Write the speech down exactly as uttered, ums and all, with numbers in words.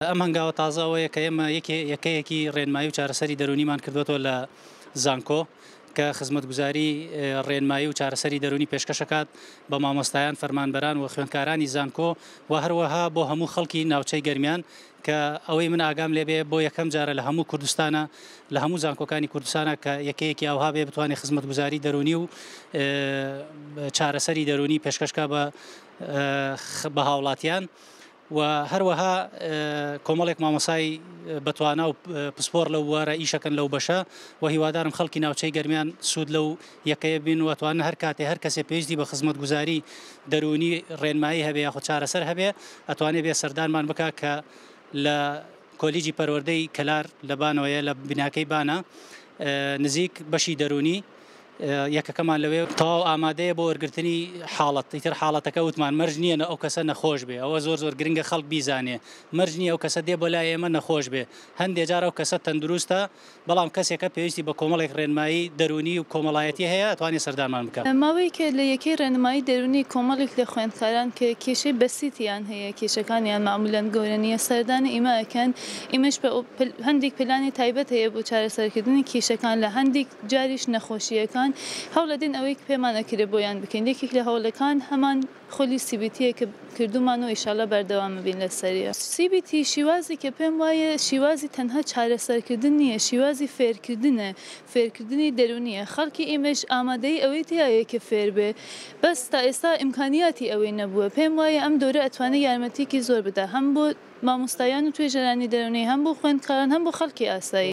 ئەم هەنگاوە تازە ئەوەیە کە ئێمە یەکەیەکی ڕێنمایی و چارەسەری دەروونیمان کردوەتەوە لە زانکۆ کە خزمەتگوزاری ڕێنمایی و چارەسەری دەروونی پێشکەشەکات بە مامۆستایان، فەرمانبەران و خوێندکارانی زانکۆ و هەروەها بۆ هەموو خەڵکی ناوچەی گەرمیان کە ئەوەی من ئاگام لێبێ بۆ یەکەم جارە لە هەموو کوردستانە لە هەموو زانکۆکانی کوردستانە کە یەکەیەکی ئاوها بێ بتوانێت خزمەتگوزاری دەروونی و چارەسەری دەروونی پێشکەشکا بە هاوڵاتیان. و هەروەها کۆمەڵێک مامۆسای بەتوانا و پسپۆر لەو بوارە ئیشەکەن لەو بەشە و هیوادارم خەڵکی ناوچەی گەرمیان سوود لەو یەکەیە بین و توانن هەر کاتێ هەر کەسێ پێویستی بە خزمەتگوزاری دەروونی ڕێنمایی هەبێ یاخود چارەسەر هەبێ ئەتوانێ بێ سەردانمان بکا کە لە کۆلیجی پەروەردەی کەلار لە بانەوەیە لە بیناکەی بانە نزیک بەشی دەروونی یەکەکەمان لەوێ تەواو ئامادەیە بۆ وەرگرتنی حاڵەت. ئیتر حاڵەتەکە وتمان مەرج نییە ئەو کەسە نەخۆش بێ، ئەوە زۆر زۆر گرنگە خەڵک بیزانێ، مەرج نییە ئەو کەسە دێ بۆ لای ئێمە نەخۆش بێ. هەندێ جار ئەو کەسە تەندروستە بەڵام کەسێکە پێویستی بە کۆمەڵێک ڕێنمایی دەروونی و کۆمەڵایەتی هەیە ئەتوانێت سەردانمان بکات. ماوەیەکە لە یەکەی ڕێنمایی دەروونی کۆمەڵێک لە خوێندکاران کە کێشەی بەسیتیان هەیە، کێشەکانیان معمولاً گەورە نییە، سەردانی ئیمە ئەکەن. ئیمەش هەندێک پلانی تایبەت هەیە بۆ چارەسەرکردنی کێشەکان، لە هەندێک جاریش نەخۆشیەکان هەوڵەدەین ئەوەی پێمان ئەکرێ بۆیان بکەین. یەکێک لە هەوڵەکان هەمان خۆلی CBT کە کردومان و ئیشاڵە بەردەوام بین لەسەریە. CBT شیوازی کە پێم وایە شیوازی تەنها چارەسەرکردن نییە، شیوازی فێرکردنە، فێرکردنی دەرونیە. خەڵکی ئێمەش ئامادەی ئەوەی تایە کە فێر بێ، بەس تا ئێستا ئیمکانیاتی ئەوەی نەبووە. پێم وایە ئەم دۆرە ئەتوانێت یارمەتیکی زۆر بدا، هەم بۆ مامۆستایان و توێژەرانی دەرونی، هەم بۆ خوێندکاران، هەم بۆ خەڵکی ئاسایی.